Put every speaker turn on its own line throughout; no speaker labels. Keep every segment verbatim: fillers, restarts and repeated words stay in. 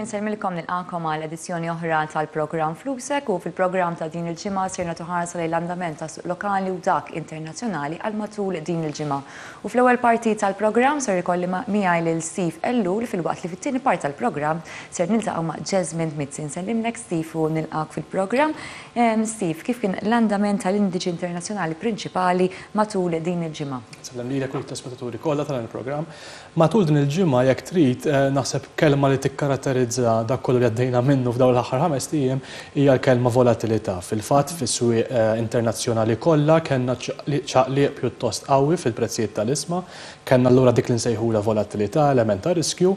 Sinjuri, nsellmilkom, nilqakom għal edizzjoni oħra tal-programm Flusek u fil-programm ta' din il-ġimgħa ser nagħtu ħarsa lejn l-andament ta' suq lokali u dak internazzjonali għal matul din il-ġimgħa. U fl-ewwel parti tal-programm ser ikolli miegħi lil Steve Ellul, filwaqt li fit-tieni parti tal-programm ser niltaqgħu ma' Jasmine Mizzi. Nsellimlek, Steve, u nilqak fil-programm. Steve, kif kien l-andament tal-indiċi internazzjonali prinċipali matul din il-ġimgħa?
Sellem lilek u l-telespettaturi kollha tal-programm. Matul din il-ġimgħa, jekk trid, eh, naħseb kelma li tikkaratterizza dak kollu li għaddejna minnu f'dawn l-aħħar ħames ijiem hija l-kelma volatilità. Fil-fatt, fis-swieq eh, internazzjonali kollha kellna ċaqliq pjuttost qawwi fil-prezzijiet tal-ishma, kellna allura dik li nsejħula volatilità, element ta' riskju,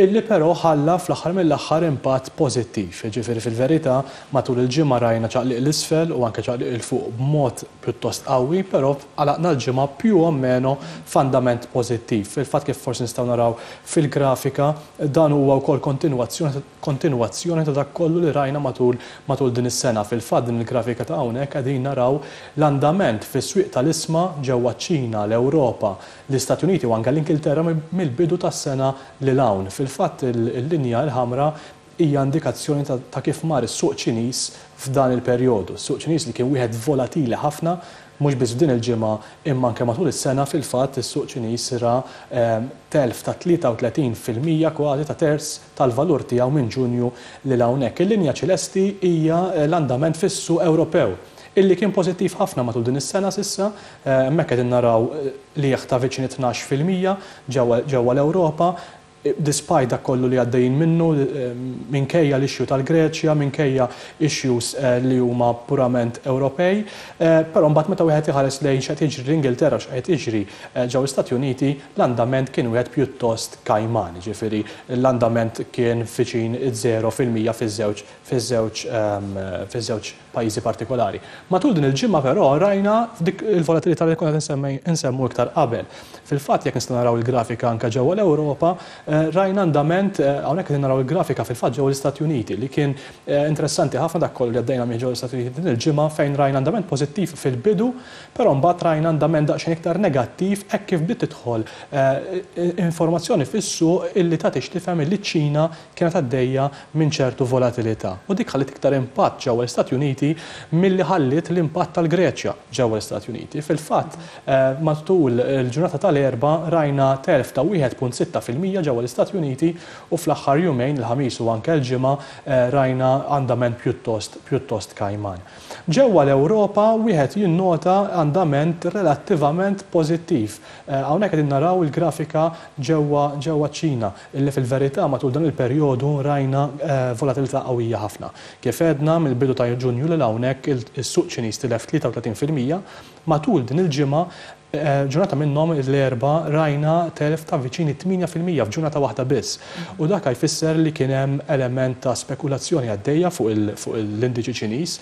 illi però ħalla fl-aħħar mill-aħħar impatt pożittiv. Ġifieri fil-verità matul il-ġimgħa rajna ċaqliq 'l isfel u anke ċaqliq 'il fuq b'mod pjuttost qawwi, però għalaqna l-ġimgħa più o meno f'andament pożittiv. Fil-fatt, kif forsi nistgħu naraw fil-grafika, dan huwa wkoll kontinwazzjoni kontinwazzjoni ta' dak kollu li rajna matul matul din is-sena. Fil-fatt, din il-grafika ta' hawnhekk qegħdin naraw l-andament fis-swieq tal-ishma ġewwa ċ-Ċina, l-Ewropa, l-Istati Uniti u anke l-Ingilterra mill-bidu tas-sena lil hawn. Fil-fatt, il-linja l-ħamra hija indikazzjoni ta' kif mar is-suq Ċiniż f'dan il-perjodu. Is-suq Ċiniż li kien wieħed volatili ħafna, mhux biss f'din il-ġimgħa imma anke matul is-sena. Fil-fatt, is-suq Ċiniż ra ehm, telf ta' tlieta u tletin fil-mija, kważi ta' terz tal-valur tiegħu minn Ġunju lil hawnhekk. Il-linja ċelesti hija l-andament fis-suq Ewropew illi kien pożittiv ħafna matul din is-sena s'issa, eh, hemmhekk qegħdin naraw li ta' viċin tnax fil-mija ġewwa l-Ewropa, despite dak kollu li għaddejjin minnu, eh, minkejja l-issue tal-Greċja, minkejja issues eh, li huma purament Ewropej, eh, però mbagħad meta wieħed iħares lejn x'qed jiġri l-Ingilterra, x'qed jiġri ġew l-Istati Uniti, l-andament kien wieħed pjuttost kajman, ġifieri l-andament kien viċin zero fil-mija fiż-żewġ fiż-żewġ ehm, fiż-żewġ pajjiżi partikolari. Matul din il-ġimgħa però rajna dik il-volatilità li konna nsemmu iktar qabel. Fil-fatt, jekk nistgħu naraw il-grafika anke ġewwa l-Ewropa, eh, rajna andament, eh, hawnhekk qed naraw il-grafika fil-fatt ġewwa l-Istati Uniti, li kien eh, interessanti ħafna dak kollu li għaddejna minn ġewwa l-Istati Uniti din il-ġimgħa, fejn rajna andament pożittiv fil-bidu, però mbagħad rajna andament daqsxejn iktar negattiv hekk kif bdiet tidħol informazzjoni fis-suq illi tagħti x'tifhem illi ċ-Ċina kienet għaddejja minn ċertu volatilità. U dik ħallit iktar impatt ġewwa l-Istati Uniti milli ħallit l-impatt tal-Greċja ġewwa l-Istati Uniti. Fil-fatt, matul il-ġurnata tal-Erbgħa rajna telf ta' wieħed punt sitta fil-mija ġewwa l-Istati Uniti u fl-aħħar jumejn, il-Ħamis u anke l-Ġimgħa, eh, rajna andament pjuttost pjuttost kajman. Ġewwa l-Ewropa wieħed jinnota andament relattivament pożittiv. Eh, hawnhekk qegħdin naraw il-grafika ġewwa ġewwa ċ-Ċina, illi fil-verità matul dan il-perjodu rajna eh, volatilità qawwija ħafna. Kif għedna, mill-bidu ta' Ġunju lil hawnhekk is-suq Ċiniż tilef tlieta u tletin fil-mija. Matul din il-ġimgħa, eh, ġurnata minnhom, l-Erbgħa, rajna telf ta' viċini tmienja fil-mija f'ġurnata waħda biss. U dak jfisser li kien hemm element ta' spekulazzjoni għaddejja fuq l-indiċi Ċiniż.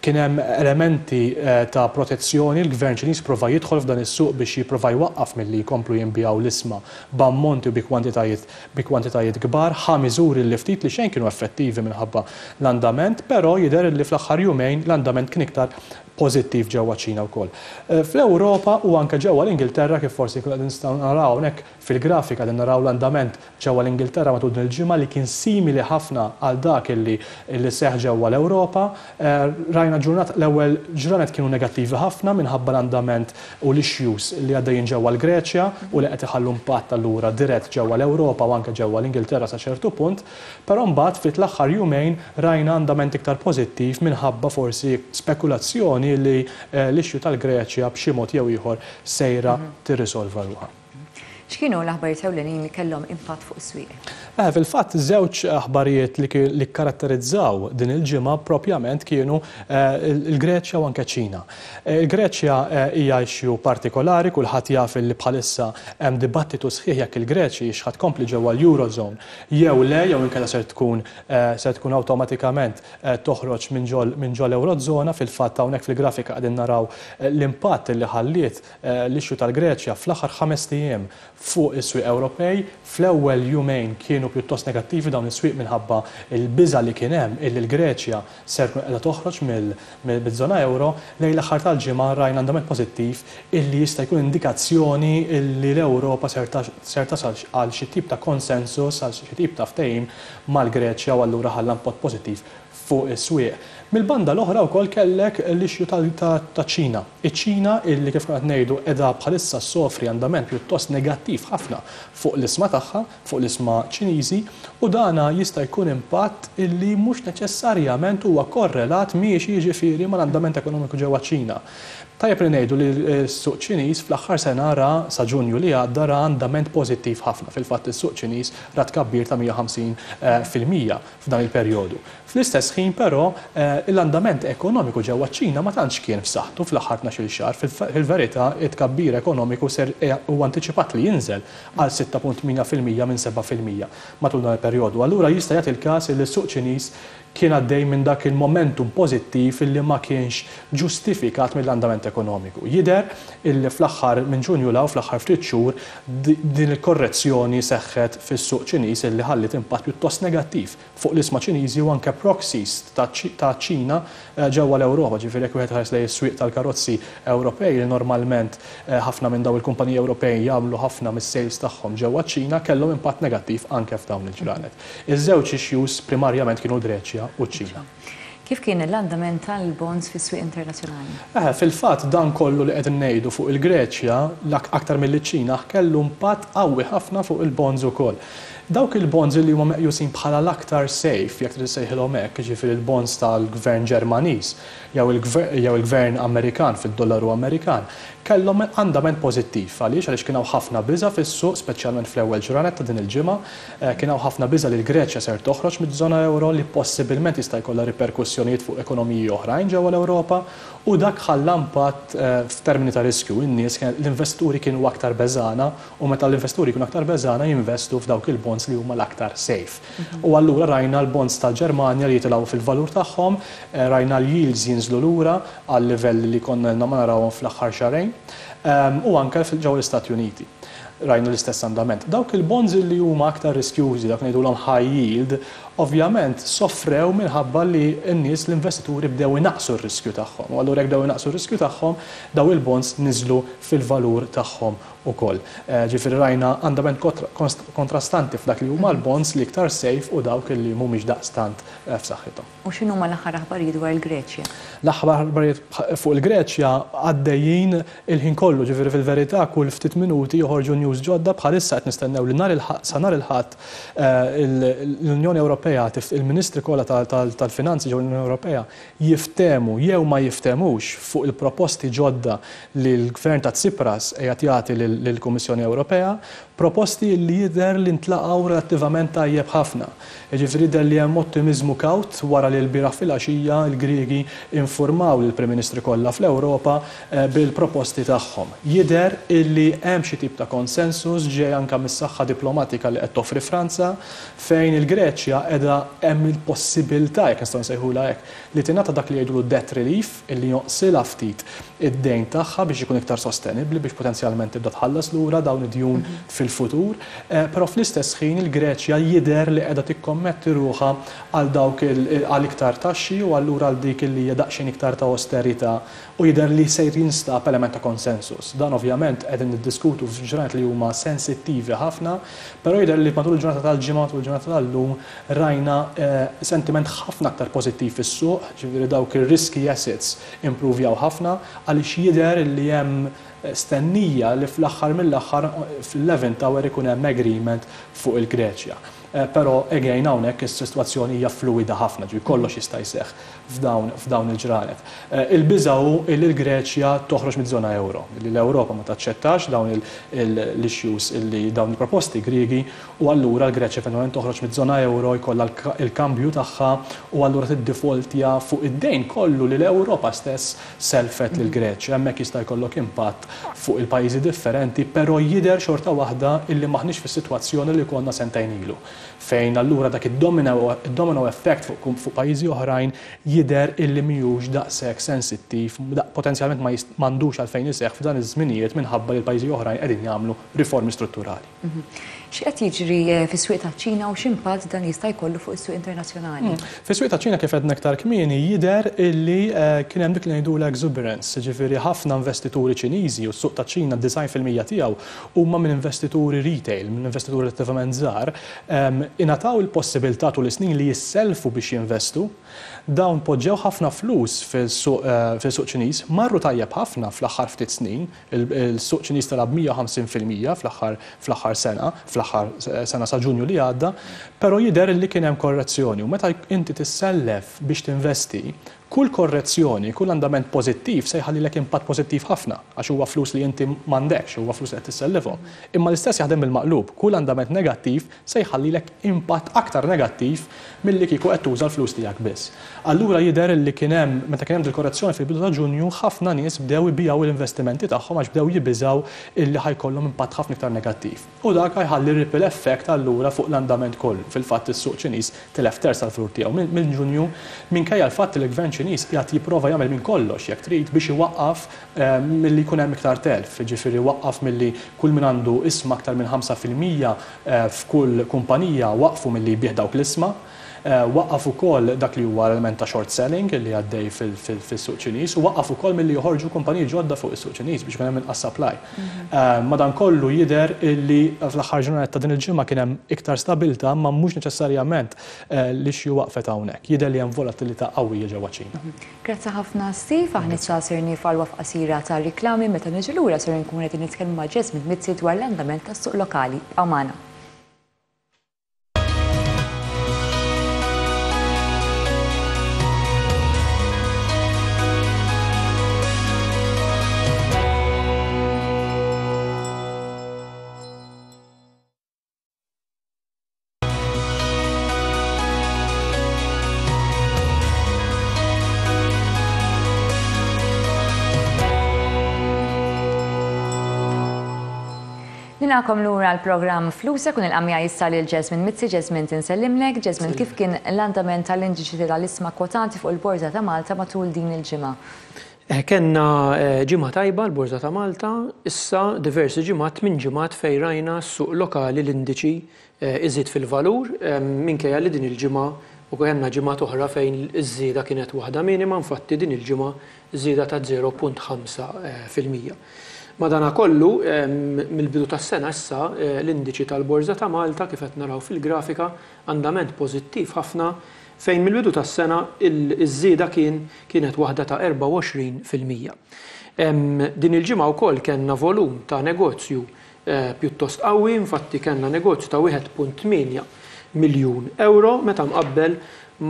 Kien hemm elementi eh, ta' protezzjoni, l-gvern Ċiniż prova jidħol f'dan is-suq biex jipprova jwaqqaf milli jkomplu jinbiegħu l-ishma b'ammonti u bi kwantitajiet bi kwantitajiet kbar, ħa miżuri li ftit li xejn kienu effettivi minħabba l-andament, però jidher li fl-aħħar jumejn l-andament kien iktar pożittiv ġewwa ċ-Ċina wkoll. Eh, Fl-Ewropa u anke ġewwa l-Ingilterra, kif forsi nistgħu naraw hawnhekk fil-grafika, li naraw l-andament ġewwa l-Ingilterra matul din il-ġimgħa li kien simili ħafna għal dak illi li seħ ġewwa l-Ewropa. Eh, rajna ġurnat l-ewwel ġranet kienu negattivi ħafna minħabba l-andament u l-issues li għaddejjin ġewwa l-Greċja u li qed iħallu impatt allura dirett ġewwa l-Ewropa u anke ġewwa l-Ingilterra sa ċertu punt, però mbagħad fit-l-aħħar jumejn rajna andament iktar pożittiv minħabba forsi spekulazzjoni li eh, l-issue tal-Greċja b'xi mod jew ieħor sejra mhm. tirrisolva ruħha.
X'kienu l-aħbarijiet ewlenin li kellhom impatt fuq is-swieq?
Eh, fil-fatt, żewġ aħbarijiet li, li karatterizzaw din il-ġimgħa propjament kienu eh, il-Greċja u anke Ċina. Eh, Il-Greċja hija issue partikolari, kulħadd jaf li bħalissa hemm dibattitu sħiħ jekk il-Greċja hix ħa tkompli ġewwa l-Eurozone jew le, jew inkella ser tkun ser tkun awtomatikament toħroġ minn ġol minn ġol Eurozona. Fil-fatt, hawnhekk fil-grafika qegħdin naraw l-impatt li ħalliet l-issue tal-Greċja fl-aħħar ħames ijiem fuq is-swieq Ewropej. Fl-ewwel jumejn kienu pjuttost negattivi dawn is-swieq minħabba il-biża li kien hemm illi l-Greċja ser tkun qiegħda toħroġ mill-żona euro. Lejn l-aħħar tal-ġimgħa rajna andament pożittiv illi jista' jkun indikazzjoni illi l-Ewropa ser tasal għal xi tip ta' konsensus, għal xi tip ta' ftehim mal-Greċja, u allura ħalla impatt pożittiv fuq is-swieq. Mill-banda l-oħra wkoll kellek l-issue ta' Ċina. Iċ-Ċina illi, kif qed ngħidu, qiegħda bħalissa sofri andament pjuttost negattiv ħafna fuq l-ishma tagħha, fuq l-ishma Ċiniżi, u dana jista' jkun impatt illi mhux neċessarjament huwa korrelat miexi, jiġifieri, mal-andament ekonomiku ġewwa Ċina. Tajjeb li ngħidu li s-suq Ċiniż fl-aħħar sena ra, sa Ġunju li għadda, ra andament pożittiv ħafna. Fil-fatt, is-suq Ċiniż ra tkabbir ta' mija u ħamsin fil-mija f'dan il-perjodu. Fl-istess ħin però, eh, l-andament ekonomiku ġewwa ċ-Ċina ma tantx kien f'saħħtu fl-aħħar tnax-il xahar. Fil-verità, it-tkabbir ekonomiku ser eh, huwa antiċipat li jinżel għal sitta punt tmienja fil-mija minn seba' fil-mija matul dan il-perjodu. Allura jista' jagħti il-każ li s-suq Ċiniż kien għaddej minn dak il-momentum pożittiv illi ma kienx ġustifikat mill-andament ekonomiku. Jider illi fl-aħħar minn Ġunju 'l hawn, fl-aħħar ftit xhur, din il-korrezzjoni seħħet fis-suq Ċiniż illi ħallit impatt pjuttost negattiv fuq l-ishma Ċiniżi u anke proxies ta' Ċina eh, ġewwa l-Ewropa. Ġifieri, jekk wieħed ħares lejn is-swieq tal-karozzi Ewropej, li normalment eh, ħafna minn daw il-kumpaniji Ewropej jagħmlu ħafna mis-sales tagħhom ġewwa Ċina, kellhom impatt negattiv anke f'dawn il-ġranet. Iż-żewġ issues primarjament kienu l-Greċja u ċ-Ċina.
Kif kien l-andament tal-bonds fis-swieq internazzjonali?
Eh, fil-fatt, dan kollu li qed ngħidu fuq il-Greċja aktar mill-Ċina kellu impatt qawwi ħafna fuq il-bonds ukoll. Dawk il-bonds li huma meqjusin bħala l-aktar safe, jekk trid sejħilhom hekk, ġifieri il-bonds tal-gvern Ġermaniż jew il-gvern Amerikan fid-dollaru Amerikan, kellhom andament pożittiv. Għaliex? Għaliex kien hawn ħafna biża fis-suq, speċjalment fl-ewwel ġranet ta' din il-ġimgħa, eh, kien hawn ħafna biża li l-Greċja ser toħroġ miż-żona euro, li possibilment jista' jkollha riperkussjonijiet fuq ekonomiji oħrajn ġewwa l-Ewropa, u dak ħalla impatt eh, f'termini ta' riskju. In-nies, l-investuri kienu aktar beżana, u meta l-investuri kienu aktar beżana jinvestu f'dawk il-bonds li huma l-aktar safe. Mhm. U allura rajna l-bonds tal-Ġermanja li jitilgħu fil-valur tagħhom, eh, rajna l-yields jinżlu lura għal livell li konna ma narawhom fl-aħħar xahrejn, ehm, u anke ġewwa l-Istati Uniti rajna l-istess andament. Dawk il-bonds li huma aktar riskjużi, dak ngħidulhom high yield, ovvjament soffrew minħabba li n-nies, l-investituri, bdew inaqsu r-riskju tagħhom. U allura jekk bdew inaqsu r-riskju tagħhom, daw il-bonds niżlu fil-valur tagħhom ukoll. Eh, ġifieri rajna andament kontrastanti f'dak li huma l-bonds li iktar safe u dawk li mhumiex daqstant eh, f'saħħithom.
U x'inhu ma l-aħħar aħbarijiet dwar il-Greċja?
L-aħħar aħbarijiet fuq il-Greċja għaddejjin il-ħin kollu, ġifieri fil-verità kull ftit minuti joħorġu news ġodda. Bħalissa qed nistennew li nhar sa nhar il-Ħadd eh, l-Unjoni Ewropea, il-Ministri kollha tal-Finanzi ġew l-Unjoni Ewropea jiftemu jew ma jiftemux fuq il-proposti ġodda li l-Gvern ta' Tsipras qiegħed jagħti lill-Kummissjoni Ewropea, proposti li jidher li ntlaqgħu relattivament tajjeb ħafna. Ġifieri jidher li hemm ottimizmu kawt wara li l-bieraħ fil-għaxija l-Griegi informaw lill-Prim Ministri kollha fl-Ewropa eh, bil-proposti tagħhom. Jidher illi hemm xi tip ta' konsensus ġej anke mis-saħħa diplomatika li qed toffri Franza, fejn il-Greċja qiegħda hemm il-possibilità, jekk nistgħu nsejħulha hekk, li tingħata dak li jgħidulu debt relief, illi jonqsilha ftit id-dejn tagħha biex ikun iktar sostenibbli, biex potenzjalment tibda tħallas lura dawn id-djun mhm. fil-futur. Eh, però fl-istess ħin il-Greċja jidher li qiegħda tikkommetti ruħha għal dawk għal iktar taxxi u allura għal dik li hija daqsxejn iktar ta' austerità, u jidher li sejr jinstab element ta' konsensus. Dan ovvjament qegħdin niddiskutu f'ġranet li huma sensittivi ħafna, però jidher li matul il-ġurnata tal-Ġimgħa, matul il-ġurnata tal-lum, rajna eh, sentiment ħafna aktar pożittiv fis-suq, ġifieri dawk ir-risky assets improvjaw ħafna għaliex jidher li hemm stennija li fl-aħħar mill-aħħar fl-eleventh hour ikun hemm agreement fuq il-Greċja. Eh, però again, hawnhekk is-sitwazzjoni hija fluida ħafna, ġi kollox jista' jseħħ f'dawn f'dawn il-ġranet. Eh, il-biża hu li l-Greċja toħroġ miż-żona euro, li l-Ewropa ma taċċettax dawn l-issues, illi dawn il-proposti Griegi, u allura l-Greċja eventwalment toħroġ miż-żona euro, jkollha il-kambju tagħha u allura tiddefaultja fuq id-dejn kollu li l-Ewropa stess selfet lil Greċja. Hemmhekk jista' jkollok impatt fuq il-pajjiżi differenti, però jidher xorta waħda illi maħniex fis-sitwazzjoni li konna sentejn ilu, fejn allura dak id-domino effect fuq, fuq pajjiżi oħrajn jidher li huwa pjuttost limitat. jidher illi mhijiex daqshekk sensittiv, potenzjalment ma m'għandux għalfejn iseħħ f'dan iż-żminijiet minħabba li l-pajjiżi oħrajn qegħdin jagħmlu riformi strutturali.
X'qed jiġri fis-swieq taċ-Ċina u x'impatt dan jista' jkollu fuq is-suq internazzjonali?
Fis-swieq taċ-Ċina kif għedna aktar kmieni jidher illi kien hemm dik li ngħidulha exuberance, ġifieri ħafna investituri Ċiniżi u s-suq taċ-Ċina disgħin fil-mija tiegħu huma minn investituri retail, minn investituri relattivament żgħar, ingħataw il-possibilità tul is-snin li jisselfu biex jinvestu. Dawn poġġew ħafna flus fil-suq Ċiniż, marru tajjeb ħafna fl-aħħar ftit snin, il-suq Ċiniż tela' b'mija u ħamsin fil-mija fl-aħħar sena, fl-aħħar sena sa Ġunju li għadda, però jidher li kien hemm korrezzjoni u meta inti tissellef biex tinvesti, kull korrezzjoni, kull andament pożittiv se jħallilek impatt pożittiv ħafna, għax huwa flus li inti m'għandekx, huwa flus li qed tissellifhom. Imma l-istess jaħdem bil-maqlub, kull andament negattiv se jħallilek impatt aktar negattiv milli kieku qed tuża l-flus tiegħek biss. Allura jidher li kien hemm, meta kien hemm dil-korrezzjoni fil-bidu ta' Ġunju, ħafna nies bdew ibijaw l-investimenti tagħhom għax bdew jibiżaw illi ħajkollhom impatt ħafna iktar negattiv. U dak ħajħalli ripple effect allura fuq l-andament kollu. Fil-fatt is-suq Ċiniż tilef terz tal-flur tiegħu minn Ġunju minkejja l-fatt li l-gvern Ċiniż qiegħed jipprova jagħmel minn kollox jekk trid biex iwaqqaf milli jkun hemm iktar telf, jiġifieri waqqaf milli kull min għandu isma aktar minn ħamsa fil-mija f'kull kumpanija waqfu milli jbieħ dawk l-isma. Waqqaf ukoll dak li huwa element ta' short selling li għaddej fis-suq Ċiniż u waqqaf ukoll milli joħorġu kumpaniji ġodda fuq is-suq Ċiniż biex ikun hemm inqas supply. Madankollu jidher illi fl-aħħar ġurnata ta' din il-ġimgħa kien hemm iktar stabilità ma mhux neċessarjament li xi waqfet hawnhekk. Jidher li hemm volatilità qawwija ġewwa Ċina.
Grazzi ħafna Steve, aħna issa ser nieqfu għal waqf qasira ta' riklami meta niġu lura ser nkunu qegħdin nitkellmu ma' Jesmond Mizzi dwar l-andament tas-suq lokali. Ibqgħu magħna. Nilqakom lura l-programm Flusek u nilqa' miegħi issa lil Jesmond Mizzi. Jesmond, insellimlek. Jesmond, kif kien l-andament tal-indiċi tal-isma kwotati fuq il-Borża ta' Malta matul din il-ġimgħa?
Kenna ġimgħa tajba l-Borża ta' Malta, issa diversi ġimgħat minn ġimgħat fejn rajna s-suq lokali l-indiċi iżid fil-valur, minkejja li din il-ġimgħa u kellna ġimgħat oħra fejn iż-żieda kienet waħda minima, infatti din il-ġimgħa żieda ta' zero punt ħamsa fil-mija. Madanakollu, mill-bidu tas-sena issa l-indiċi tal-Borża ta' Malta kif qed naraw fil-grafika andament pożittiv ħafna fejn mill-bidu tas-sena iż-żieda kien kienet waħda ta' erbgħa u għoxrin fil-mija. Din il-ġimgħa wkoll kellna volum ta' negozju pjuttost qawwi, infatti kellna negozju ta' wieħed punt tmienja miljun euro meta mqabbel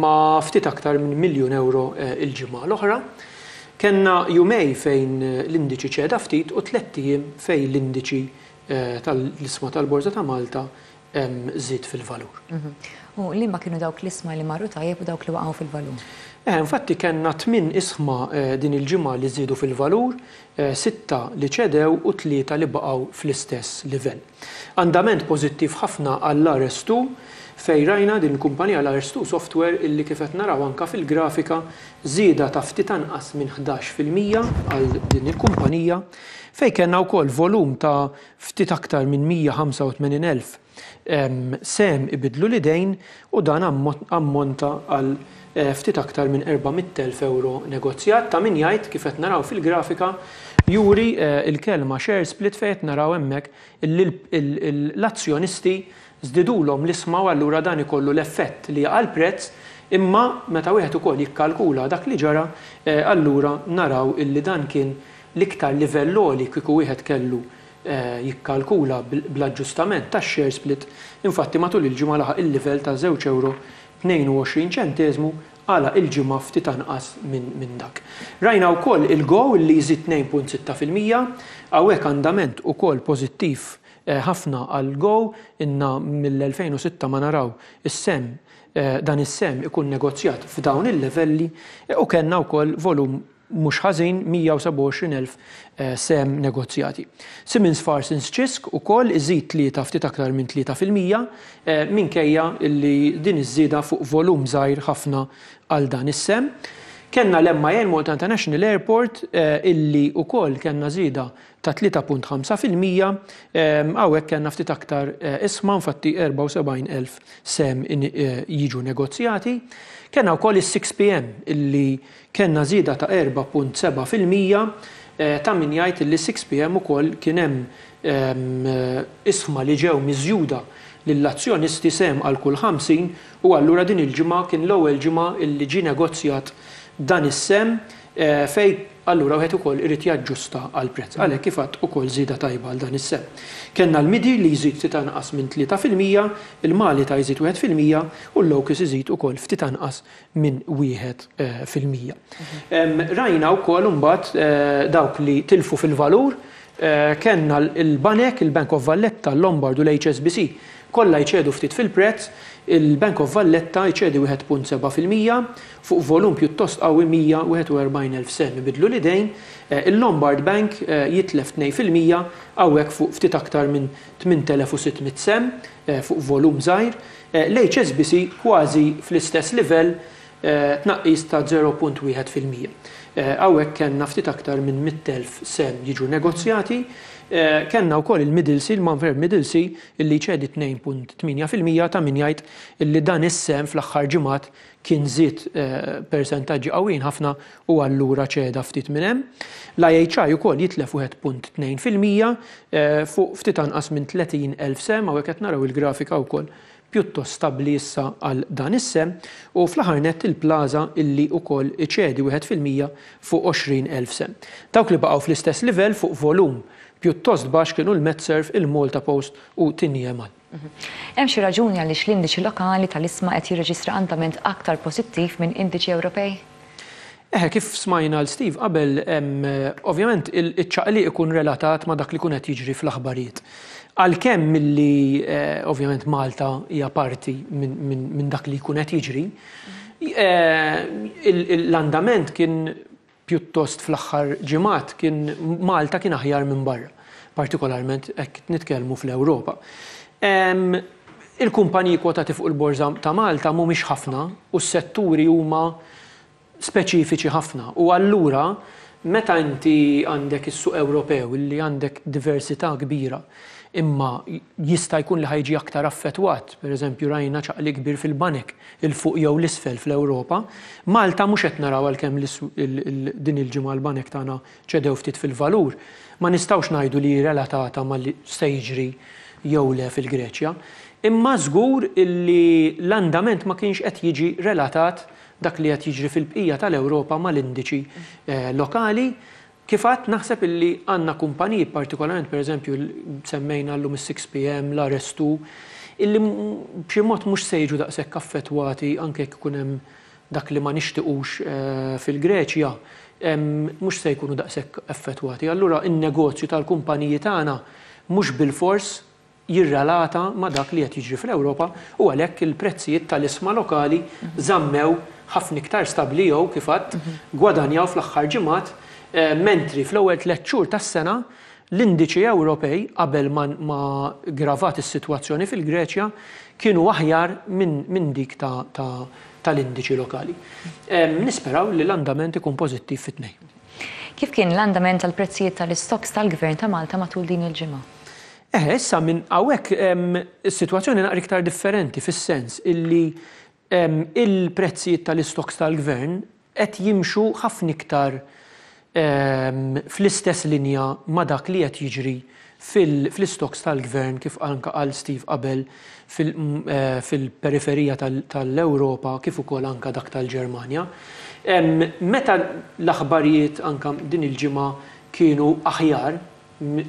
ma' ftit aktar minn miljun euro il-ġimgħa l-oħra. Kenna jumej fejn l-indiċi ċeda ftit u tlett ijiem fejn l-indiċi tal-isma tal-Borża ta' Malta żied fil-valur.
U liema kienu dawk l-isma li marru tajjeb u dawk li waqgħu fil-valur?
Infatti kellna tmien isma din il-ġimgħa li żiedu fil-valur, sitta li ċedew u tlieta li baqgħu fl-istess livell. Andament pożittiv ħafna għall-R S two fejn rajna din il-kumpanija l-R S two Software illi kif qed naraw anka fil-grafika żieda ta' ftit anqas minn ħdax fil-mija għal din il-kumpanija fejn kellna wkoll volum ta' ftit aktar minn mija ħamsa u tmenin elf sehem ibidlu l-idejn u dan ammonta għal ftit aktar minn erba' mitt elf euro negozjat. Ta' min jgħid kif qed naraw fil-grafika juri il-kelma share split fejn qed naraw hemmhekk l-azzjonisti żdidulhom l-isma u allura dan ikollu l-effett li jaqa' l-prezz, imma meta wieħed ukoll jikkalkula dak li ġara, allura naraw illi dan kien l-iktar livell għoli kieku wieħed kellu jikkalkula bl-aġġustament tax-share split. Infatti matul il-ġimgħa laħaq il-livell ta' żewġ euro tnejn u għoxrin ċenteżmu għala il-ġimgħa ftit anqas minn dak. Rajna wkoll il-Go li jżid tnejn punt sitta fil-mija, hawnhekk andament ukoll pożittiv ħafna għal Go, inna mill-elfejn u sitta ma naraw is-sem, dan is-sem ikun negozjat f'dawn il-livelli u kellna wkoll volum mhux ħażin mija u sebgħa u għoxrin elf sem negozjati. Siemens Farsons Cisk ukoll iżid tlieta ftit aktar minn tlieta fil-mija minkejja li din iż-żieda fuq volum żgħir ħafna għal dan is-sem. Kellna l-M I A, Malta International Airport, illi wkoll kellna żieda ta' tlieta punt ħamsa fil-mija, hawnhekk kellna ftit aktar ishma, infatti erbgħa u sebgħin elf sehem jiġu negozjati. Kellna wkoll is-six P M illi kellna żieda ta' erbgħa punt sebgħa fil-mija, ta' min jgħid illi six P M ukoll kien hemm ishma li ġew miżjuda lill-azzjonisti, sehem għal kull ħamsin, u allura din il-ġimgħa kien l-ewwel ġimgħa illi ġie negozjat dan is-sehem, fej allura wieħed ukoll irid jaġġusta għal prezz. Għalhekk, kif għedt, ukoll żieda tajba għal dan is-sehem. Kellna l-Midi li jżid ftit anqas minn tlieta fil-mija, il-Malita jżid wieħed fil-mija u l-Locus iżid ukoll ftit anqas minn wieħed fil-mija. Rajna wkoll imbagħad dawk li tilfu fil-valur. Kellna l-Banek, il-Bank of Valletta, l-Lombard u l-H S B C kollha jċedu ftit fil-prezz. Il-Bank of Valletta jċedi wieħed punt sebgħa fil-mija fuq volum pjuttost qawwi, mija u wieħed u erbgħin elf sehem ibidlu l-idejn, il-Lombard Bank jitlef tnejn fil-mija hawnhekk fuq ftit aktar minn tmint elef u sitt mitt sehem fuq volum żgħir, l-H S B C kważi fl-istess livell, tnaqqis ta' żero punt wieħed fil-mija. Hawnhekk kellna ftit aktar minn mitt elf sehem jiġu negozjati. Kellna wkoll il-Middlesea, il-Manfer Middlesea, illi ċedi tnejn punt tmienja fil-mija. Ta' min jgħid illi dan is-sehem fl-aħħar ġimgħat kien żied persentaġġi qawwijin ħafna u allura ċeda ftit minn hemm. L-I H I ukoll jitlef wieħed punt tnejn fil-mija fuq ftit anqas minn tletin elf sehem. Hawnhekk qed naraw il-grafika wkoll pjuttost stabbli issa għal dan is-sehem, u fl-aħħar nett il-Plaza illi wkoll iċedi wieħed fil-mija fuq għoxrin elf sehem. Dawk li baqgħu fl-istess livell fuq volum pjuttost baxx kienu l-Medserv, il-Malta Post u Tiniemal.
Hemm xi raġuni għaliex l-indiċi lokali tal-ishma qed jirreġistra andament aktar pożittiv minn indiċi Ewropej?
Eħe, kif smajna lil Steve qabel, ovvjament il-ċaqliq ikun relatat ma' dak li kun qed jiġri fl-aħbarijiet. Għalkemm milli ovvjament Malta hija parti minn dak li jkun qed jiġri, l-andament kien pjuttost fl-aħħar ġimgħat kien Malta kien aħjar minn barra, partikolarment hekk nitkellmu fl-Ewropa. Il-kumpaniji kwotati fuq il-Borża ta' Malta mhumiex ħafna u s-setturi huma speċifiċi ħafna, u allura meta inti għandek is-suq Ewropew illi għandek diversità kbira, imma jista' jkun li ħa jiġi aktar affettwat, per eżempju rajna ċaqli kbir fil-banek 'il fuq jew 'l isfel fl-Ewropa, Malta mhux qed naraw, għalkemm din il-ġimgħa l-banek tagħna ċedew ftit fil-valur, ma nistgħux ngħidu li relatata ma li se jiġri jew le fil-Greċja. Imma żgur illi l-andament ma kienx qed jiġi relatat dak li qed jiġri fil-bqija tal-Ewropa mal-indiċi lokali. Kif għedt, naħseb illi għandna kumpaniji, partikolarment per eżempju semmejna llum is-six P M, l-R S two, illi b'xi mod mhux se jiġu daqshekk affettwati anke jekk ikun hemm dak li ma nixtiqux fil-Greċja, mhux se jkunu daqshekk affettwati. Allura in-negozju tal-kumpaniji tagħna mhux bilfors jirrelata ma' dak li qed jiġri fl-Ewropa u għalhekk il-prezzijiet tal-ishma lokali żammew ħafna iktar stabbli jew, kif għedt, gwadanjaw fl-aħħar ġimgħat, mentri fl-ewwel tliet xhur tas-sena l-indiċi Ewropej, qabel ma gravat is-sitwazzjoni fil-Greċja, kienu aħjar minn dik tal-indiċi lokali. Nisperaw li l-andament ikun pożittiv fit-tnejn.
Kif kien l-andament tal-prezzijiet tal-istocks tal-Gvern ta' Malta matul din il-ġimgħa?
Eh, issa minn hawnhekk is-sitwazzjoni naqra iktar differenti fis-sens illi il-prezzijiet tal-istocks tal-Gvern qed jimxu ħafna iktar fl-istess linja ma' dak li qed jiġri fl-istocks tal-Gvern, kif anka qal Steve qabel, fil-periferija tal-Ewropa kif ukoll anka dak tal-Ġermanja. Meta l-aħbarijiet anka din il-ġimgħa kienu aħjar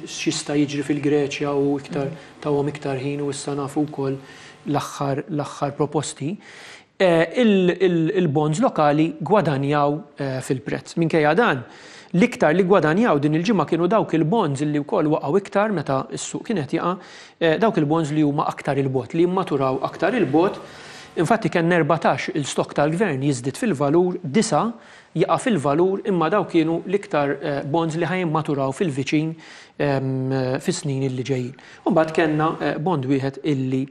x'jista' jiġri fil-Greċja u iktar tawhom iktar ħin u issa nafu wkoll l-aħħar l-aħħar proposti, il-bonds lokali gwadanjaw fil-prezz. Minkejja dan, l-iktar li gwadanjaw din il-ġimgħa kienu dawk il-bonds li wkoll waqgħu iktar meta s-suq kienet jaqa', dawk il-bonds li huma aktar 'il bogħod, li jimmaturaw aktar 'il bogħod. Infatti kien erbatax il-stock tal-gvern jiżdied fil-valur, disa jaqa' fil-valur, imma daw kienu l-iktar bonds li ħa jimmaturaw fil-viċin fis-snin illi ġejjin. Mbagħad kellna bond wieħed illi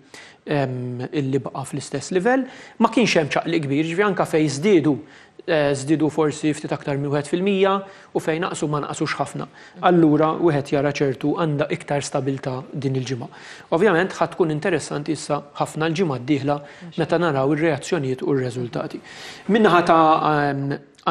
illi baqa' fl-istess livell, ma kienx hemm ċaqliq kbir, ġifieri anke fejn żdiedu żdiedu forsi ftit aktar minn wieħed fil-mija u fejn naqsu ma naqsux ħafna. Allura wieħed jara ċertu għandha iktar stabilità din il-ġimgħa. Ovvjament ħa tkun interessanti issa ħafna l-ġimgħa d-dieħla meta naraw ir-reazzjonijiet u r-reżultati. Min-naħa ta'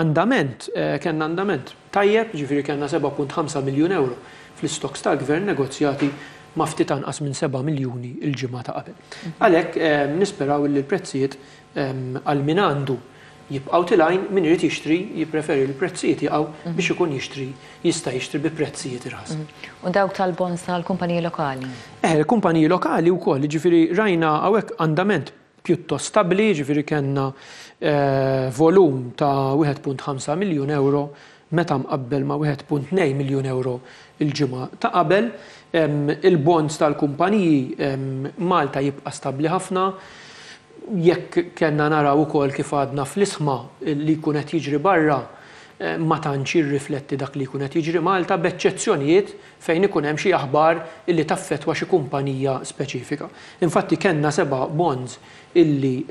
andament, kellna andament tajjeb, ġifieri kellna seba' punt ħamsa miljun euro fl-istoks tal-gvern negozjati ma' ftit anqas minn seba' miljuni l-ġimgħa ta' qabel. Għalhekk nisperaw li l-prezzijiet għal min għandu jibqgħu tilgħin, min irid jixtri jippreferi l-prezzijiet jaqgħu biex ikun jixtri, jista' jixtri bi prezzijiet irħas.
U dawk tal-bonds tal-kumpaniji lokali?
Eh, il-kumpaniji lokali wkoll, ġifieri rajna hawnhekk andament pjuttost stabbli, ġifieri kellna volum ta' wieħed punt ħamsa miljun euro meta mqabbel ma' wieħed punt tnejn miljun euro il-ġimgħa ta' qabel. Il-bonds tal-kumpaniji Malta jibqa' stabbli ħafna. Jekk kellna naraw ukoll kif għadna fl-isma li jkun qed jiġri barra, ma tantx jirrifletti dak li jkun qed jiġri Malta, b'eċċezzjonijiet fejn ikun hemm xi aħbar illi taffettwa xi kumpanija speċifika. Infatti kellna seba' bonds illi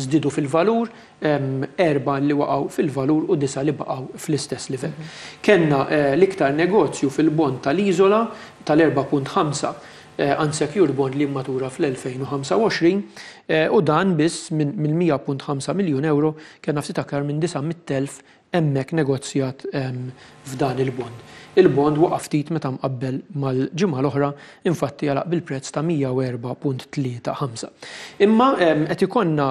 żdiedu fil-valur, erba' li waqgħu fil-valur u disa' li baqgħu fl-istess livell. Kellna l-iktar negozju fil-bond tal-Iżola tal-erba' punt ħamsa unsecured bond li matura fl-elfejn u ħamsa u għoxrin, u dan biss minn mija punt ħamsa miljun euro kellna ftit aktar minn disa' mitt elf hemmhekk negozjat f'dan il-bond. Il-bond waqa' ftit meta mqabbel mal-ġimgħa l-oħra, infatti għalaq bil-prezz ta' mija u erba' punt tlieta ħamsa. Imma qed ikollna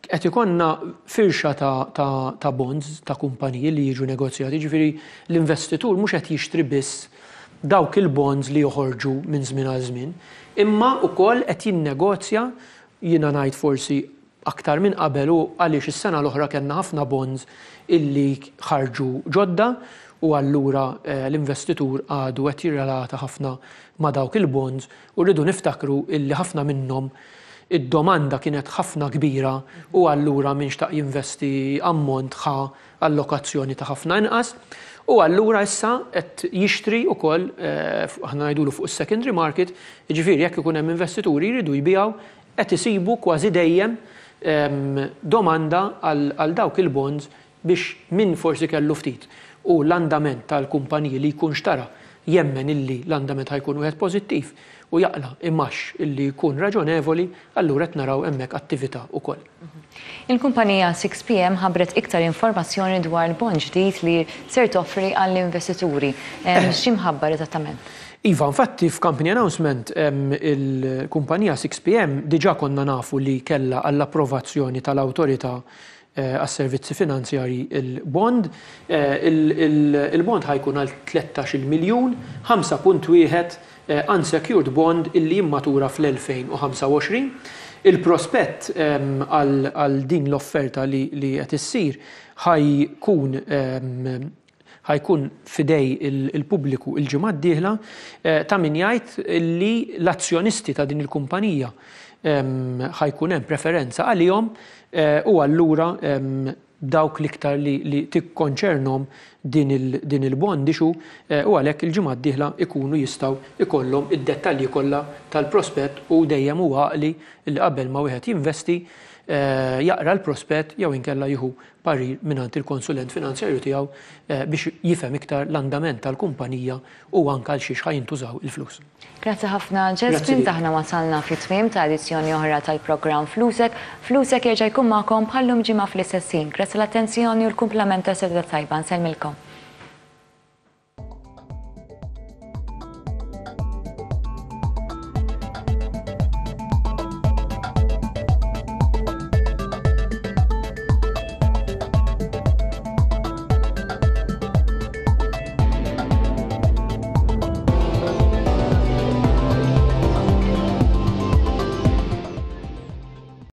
qed ikollna firxa ta', ta, ta' bonds ta' kumpaniji li jiġu negozjati, ġifieri l-investitur mhux qed jixtri biss dawk il-bonds li joħorġu minn żmien għal żmien, imma wkoll qed jinnegozja, jiena ngħid forsi aktar minn qabel, u għaliex is-sena l-oħra kellna ħafna bonds illi ħarġu ġodda u allura l-investitur għadu qed jirrelata ħafna ma' dawk il-bonds, u rridu niftakru illi ħafna minnhom id-domanda kienet ħafna kbira u allura min xtaq jinvesti ammont ħa allokazzjoni ta' ħafna inqas. U allura issa qed jixtri wkoll, aħna ngħidulu fuq is-secondary market, jiġifieri jekk ikun hemm investituri jridu jbiegħu, qed isibu kważi dejjem domanda għal dawk il-bonds biex min forsi kellu ftit u l-andament tal-kumpaniji li jkun xtara jemmen illi l-andament ħajkun wieħed pożittiv u jaqla imax illi jkun raġonevoli, allura qed naraw hemmhekk attività wkoll.
Il-kumpanija six P M ħabbret iktar informazzjoni dwar il-bond ġdid li ser toffri għall-investituri. X'imħabbar eżattament?
Iva, infatti f'company announcement il-kumpanija six P M diġà konna nafu li kellha għall-approvazzjoni tal-awtorità għas-servizzi finanzjarji il-bond. Il-bond ħajkun għal tlettax-il miljun, ħamsa punt wieħed unsecured bond illi jimmatura fl-elfejn u ħamsa u għoxrin. Il-prospett għal din l-offerta li qed issir ħajkun ħajkun fidej il-pubbliku il-ġimgħa d-dieħla, ta' min jgħid li l-azzjonisti ta' din il-kumpanija ħajkun hemm preferenza għalihom, u allura dawk l-iktar li tikkonċernhom din il-bond issue, u għalhekk il-ġimgħa d-dieħla ikunu jistgħu ikollhom id-dettalji kollha tal-prospett, u dejjem huwa għaqli li qabel ma wieħed jinvesti jaqra l-prospett jew inkella jieħu parir mingħand il-konsulent finanzjarju tiegħu biex jifhem iktar l-andament tal-kumpanija u anke għal xiex ħajintużaw il-flus.
Grazzi ħafna, Jesmond. Aħna wasalna fit-tmiem ta' edizzjoni oħra tal-programm Flusek. Flusek jerġa' jkun magħkom bħallum ġimgħa fl-istess ħin. Grazzi l-attenzjoni u l-kumplament ta' seduta tajba. Nsellmilkom.